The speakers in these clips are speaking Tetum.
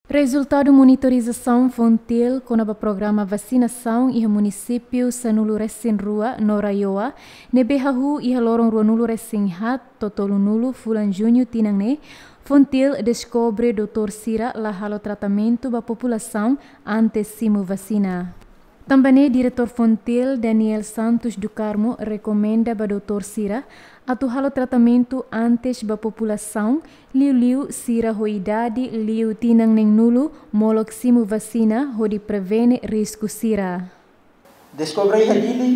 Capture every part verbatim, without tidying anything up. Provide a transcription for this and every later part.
Rezultadu monitorizasaun Fontil kona-ba programa vasinasaun iha munisípiu sanulu-resin-rua no RAEOA, ne'ebé hahú iha loron ruanulu-resin-haat to'o tolunulu fulan Juñu tinan ne'e, Fontil deskobre doutór sira la halo tratamentu ba populasaun antes simu vasina. Tanba ne'e, Diretór Fontil, Daniel Santos do Carmo, rekomenda ba doutór sira atu halo tratamentu antes ba populasaun, liuliu sira ho idade liu tinan neenulu, molok simu vasina hodi prevene risku sira. Deskobre iha Dili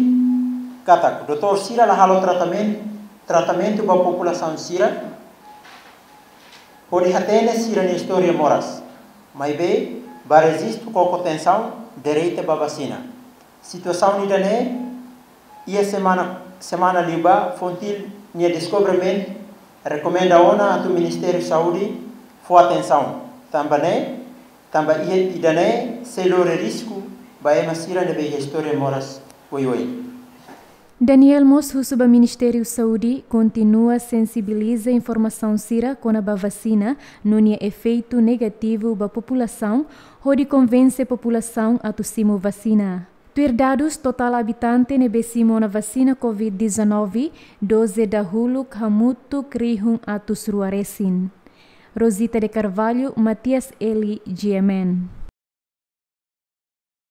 katak doutór sira la halo tratamen-, tratamentu ba populasaun sira, hodi hatene sira-nia istória moras. Maibé, ba rejistu koko tensaun, direta ba vasina. Situasaun ida-ne'e, iha semana, semana liubá, Fontil nia deskobrimentu rekomenda ona atu Ministériu Saúde fó atensaun. Tanba ne'e, tanba iha ida-ne'e sei lori risku ba ema sira ne'ebé iha istória moras oioin. Daniel mós husu ba Ministériu Saúde kontinua sensibiliza informasaun sira kona-ba vasina no nia efeitu negativu ba populasaun, hodi konvense populasaun atu simu vasina. Tuir dadus, totál abitante ne'ebé simu ona vasina covid dezanove, doze dahuluk hamutuk rihun atus rua resin. Rosita de Carvalho, Matias Eli, G M N.